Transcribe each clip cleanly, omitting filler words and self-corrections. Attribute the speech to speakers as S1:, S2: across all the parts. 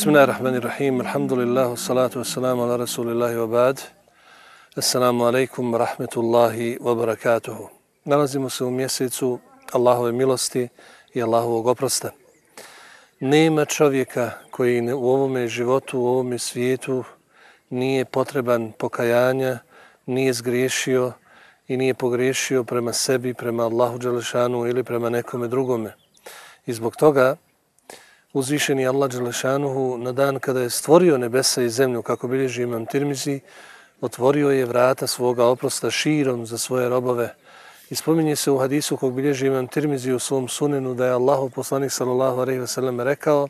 S1: Bismillahirrahmanirrahim. Alhamdulillah, salatu wassalamu ala rasulillahi wa ba'd. Assalamu alaikum wa rahmetullahi wa barakatuhu. Nalazimo se u mjesecu Allahove milosti i Allahovog oprosta. Nema čovjeka koji u ovome životu, u ovome svijetu nije potreban pokajanja, nije zgriješio i nije pogriješio prema sebi, prema Allahu dželešanu ili prema nekome drugome. I zbog toga uzvišeni Allah dželešanuhu na dan kada je stvorio nebesa i zemlju, kako bilježi Imam Tirmizi, otvorio je vrata svoga oprosta širom za svoje robove. I spominje se u hadisu kog bilježi Imam Tirmizi u svom sunenu da je Allahov poslanik sallallahu alejhi ve sellem rekao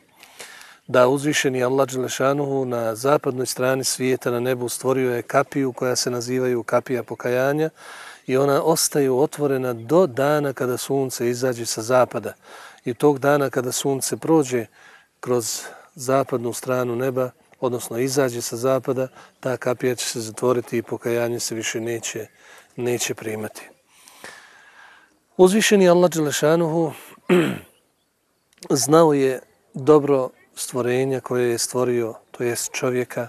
S1: da uzvišeni Allah dželešanuhu na zapadnoj strani svijeta na nebu stvorio je kapiju koja se nazivaju kapija pokajanja i ona ostaje otvorena do dana kada sunce izađe sa zapada. I tog dana kada sunce prođe kroz zapadnu stranu neba, odnosno izađe sa zapada, ta kapija će se zatvoriti i pokajanje se više neće primati. Uzvišeni Allah dželešanuhu znao je dobro stvorenja koje je stvorio, to jest čovjeka,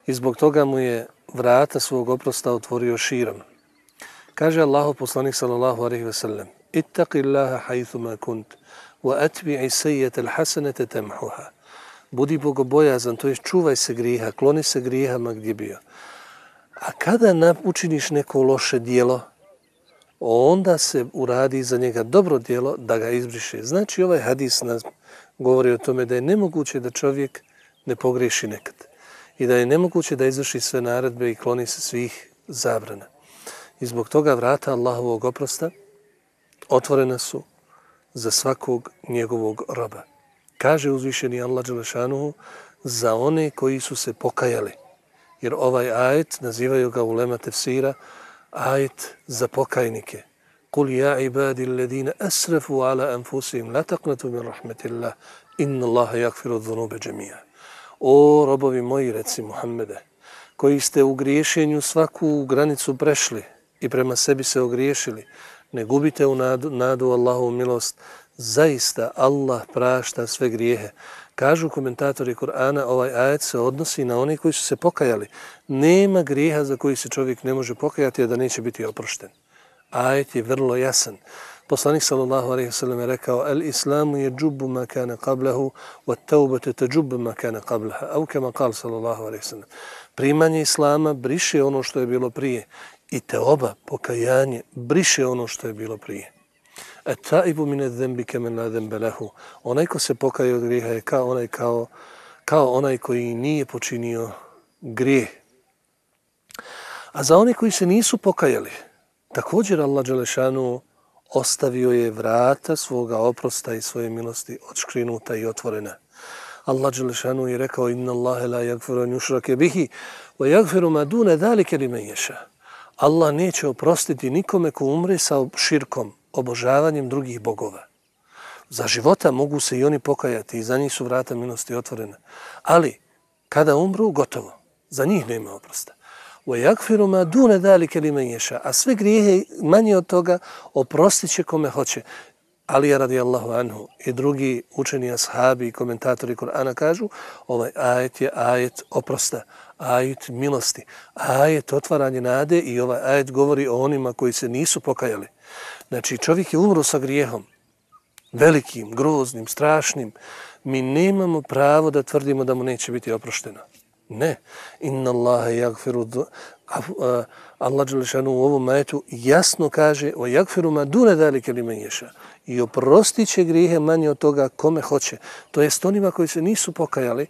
S1: i zbog toga mu je vrata svog oprosta otvorio širom. Kaže Allahov poslanik sallallahu alejhi ve sellem: Ittaqillaha haythuma kunt wa atbi'i sayyi'ata al-hasanata tamhuha. Budi bogobojazan, to jest čuvaj se grijeha, kloni se grijehama gdje bio. A kada učiniš neko loše djelo, onda se uradi za njega dobro djelo da ga izbriše. Znači ovaj hadis nas govori o tome da je nemoguće da čovjek ne pogriješi nekad i da je nemoguće da izvrši sve naredbe i kloni se svih zabrana. I zbog toga vrata Allahovog oprosta otvorena su za svakog njegovog roba. Kaže uzvišeni Allah dželešanuhu za one koji su se pokajali. Jer ovaj ajet, nazivaju ga ulema tefsira, ajet za pokajnike. Kul ja ibadi alladine asrafu ala anfusihim la taqnatu min rahmetillah inna Allaha yaghfiru dhunube džemija. O robovi moji, reci Muhammede, koji ste u griješenju svaku granicu prešli i prema sebi se ogriješili, ne gubite u nadu Allahovu milost, zaista Allah prašta sve grijehe. Kažu komentatori Kur'ana, ovaj ajet se odnosi na one koji su se pokajali. Nema grijeha za koji se čovjek ne može pokajati, a da neće biti oprošten. Ajet je vrlo jasan. Poslanik sallallahu alejhi ve sellem je rekao: "Al-islamu yajubu ma kana qablahu, wat-taubatu tajubu ma kana qablaha." Au kama qala sallallahu alejhi ve sellem. Primanje islama briše ono što je bilo prije i teoba, pokajanje, briše ono što je bilo prije. At-taibu min adh-dhanbi kaman la dhanba lahu. Onaj ko se pokaje od grijeha je kao onaj koji nije počinio grijeh. A za one koji se nisu pokajali, također Allah dželešanu ostavio je vrata svoga oprosta i svoje milosti odškrinuta i otvorena. Allah dželešanu je rekao: "Inna Allaha la yaghfiru an yushraka bihi wa yaghfiru ma duna dhalika liman yasha." Allah neće oprostiti nikome ko umre sa širkom, obožavanjem drugih bogova. Za života mogu se i oni pokajati i za njih su vrata milosti otvorena. Ali kada umru, gotovo. Za njih nema oprosta. وَيَغْفِرُ مَا دُونَ ذَلِكَ لِمَنْ يَشَاءُ. A sve grijehe manje od toga oprostit će kome hoće. Alija radijallahu anhu i drugi učeni ashabi i komentatori Kur'ana kažu: ovaj ajet je ajet oprosta, ajet milosti, ajet otvaranje nade i ovaj ajet govori o onima koji se nisu pokajali. Znači čovjek je umro sa grijehom, velikim, groznim, strašnim. Mi nemamo pravo da tvrdimo da mu neće biti oprošteno. Ne. Inna Allaha yaghfiru. Allah dželešanu u ovom ajetu jasno kaže: "Wa yaghfiru ma duna zalika liman yasha." I oprostit će grijehe manje od toga kome hoće. To jest onima koji se nisu pokajali,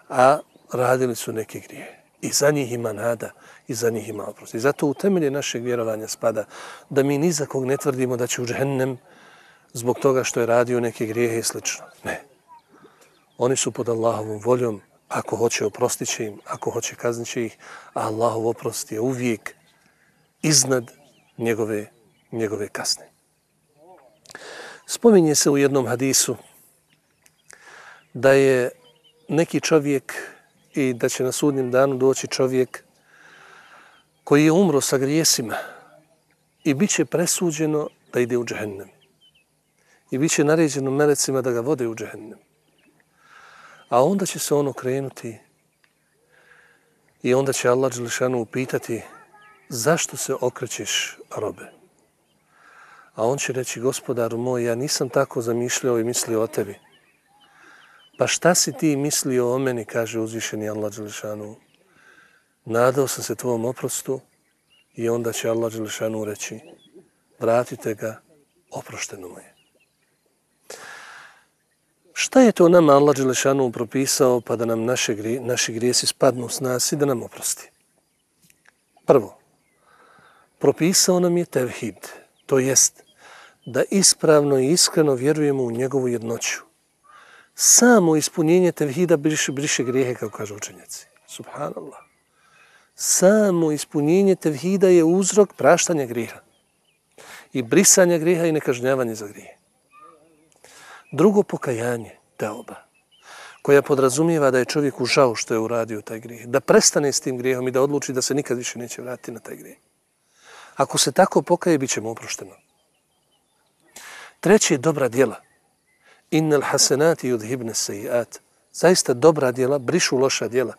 S1: a radili su neke grijehe. I za njih ima nada i za njih ima oprost. I zato u temelje našeg vjerovanja spada da mi ni za kog ne tvrdimo da će u džehennem zbog toga što je radio neke grijehe i slično. Ne. Oni su pod Allahovom voljom. Ako hoće, oprostit će im. Ako hoće, kaznit će ih. A Allahov oprost je uvijek iznad njegove kazne. Spominje se u jednom hadisu da je neki čovjek i da će na sudnjem danu doći čovjek koji je umro sa grijesima i bit će presuđeno da ide u džehennem. I bit će naređeno melecima da ga vode u džehennem. A onda će se on okrenuti i onda će Allah dželešanu upitati zašto se okrećeš, robe? A on će reći, gospodaru moj, ja nisam tako zamišljao i mislio o tebi. Pa šta si ti mislio o meni, kaže uzvišeni Allah dželešanu. Nadao sam se tvom oprostu i onda će Allah dželešanu reći, vratite ga, oprošteno mu je. Šta je to nama Allah dželešanu propisao pa da nam naši grijesi spadnu s nas i da nam oprosti? Prvo, propisao nam je tevhid, to jest da ispravno i iskreno vjerujemo u njegovu jednoću. Samo ispunjenje tevhida briše grijehe, kao kažu učenjaci. Subhanallah. Samo ispunjenje tevhida je uzrok praštanja grijeha i brisanja grijeha i nekažnjavanja za grije. Drugo, pokajanje, teoba, koja podrazumijeva da je čovjeku žao što je uradio taj grijeh, da prestane s tim grijehom i da odluči da se nikad više neće vratiti na taj grijeh. Ako se tako pokaje, bit će mu oprošteno. Treće, dobra djela. Innal hasenati yudhibne sejiat. Zaista dobra djela brišu loša djela.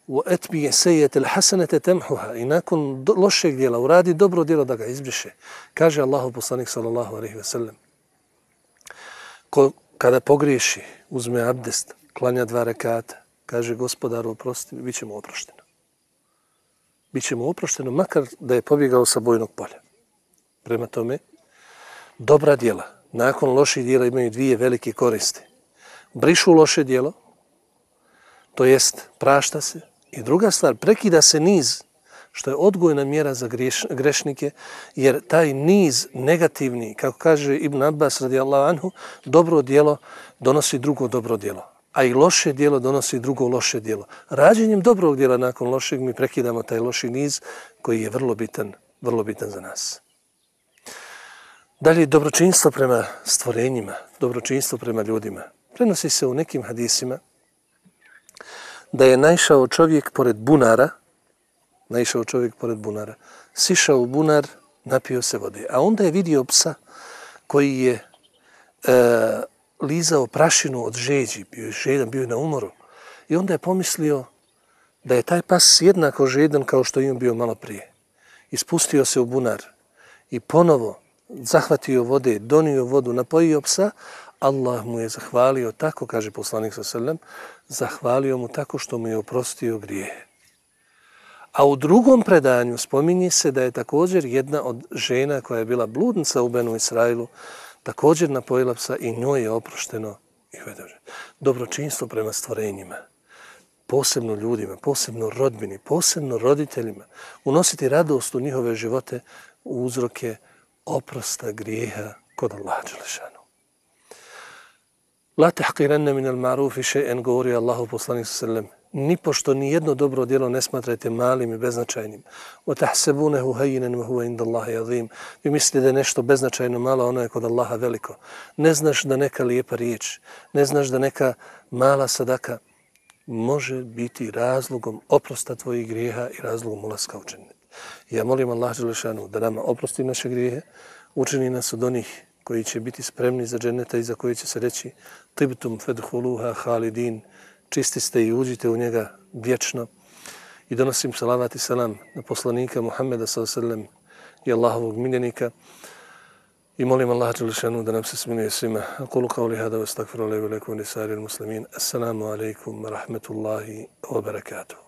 S1: Wa atbi'i sayyi'atal hasanata tamhuha. I nakon lošeg djela uradi dobro djelo da ga izbriše. Kaže Allahu poslanik sallallahu alejhi ve sellem. Kada pogriješi, uzme abdest, klanja 2 rekata, kaže gospodaru oprosti, bit će mu oprošteno. Biće mu oprošteno makar da je pobjegao sa bojnog polja. Prema tome, dobra djela nakon loših djela imaju 2 velike koristi. Brišu loše djelo, to jest prašta se. I druga stvar, prekida se niz, što je odgojna mjera za grešnike, jer taj niz negativni, kako kaže Ibn Abbas radijallahu anhu, dobro djelo donosi drugo dobro djelo. A i loše djelo donosi drugo loše djelo. Rađenjem dobrog djela nakon lošeg mi prekidamo taj loši niz koji je vrlo bitan za nas. Dalje, dobročinstvo prema stvorenjima, dobročinstvo prema ljudima. Prenosi se u nekim hadisima da je naišao čovjek pored bunara, sišao u bunar, napio se vode. A onda je vidio psa koji je lizao prašinu od žeđi, bio je žedan, bio je na umoru. I onda je pomislio da je taj pas jednako žedan kao što je on bio malo prije. Ispustio se u bunar i ponovo zahvatio vode, donio vodu, napojio psa. Allah mu je zahvalio tako, kaže poslanik sallallahu alejhi ve sellem, zahvalio mu tako što mu je oprostio grijehe. A u drugom predanju spominje se da je također jedna od žena koja je bila bludnica u Benu Israilu također napojila psa i njoj je oprošteno. Dobročinstvo prema stvorenjima, posebno ljudima, posebno rodbini, posebno roditeljima, unositi radost u njihove živote, uzroke oprosta grijeha kod Allaha dželešanu. La tahqiranna min al-ma'rufi shay'an, govori Allahu poslanik sallallahu alejhi ve sellem. Nipošto ni jedno dobro djelo ne smatrajte malim i beznačajnim. Wa tahsabunahu hayyinan wa huwa inda Allahi azim. Vi mislite da je nešto beznačajno malo, ono je kod Allaha veliko. Ne znaš da neka lijepa riječ, ne znaš da neka mala sadaka može biti razlogom oprosta tvojih grijeha i razlogom ulaska u džennet. Ja molim Allah dželešanu da nama oprosti naše grijehe, učini nas od onih koji će biti spremni za dženneta i za koji će se reći tibtum fedhuluha halidin, čisti ste i uđite u njega vječno. I donosim salavat i salam na poslanika Muhammeda sallallahu alejhi ve sellem i Allahovog miljenika i molim Allah dželešanu da nam se smiluje svima. Aqulu qawli hada wa astaghfirullaha li wa lakum wa li sa'iril muslimin. Assalamu alaikum wa rahmatullahi wa barakatuh.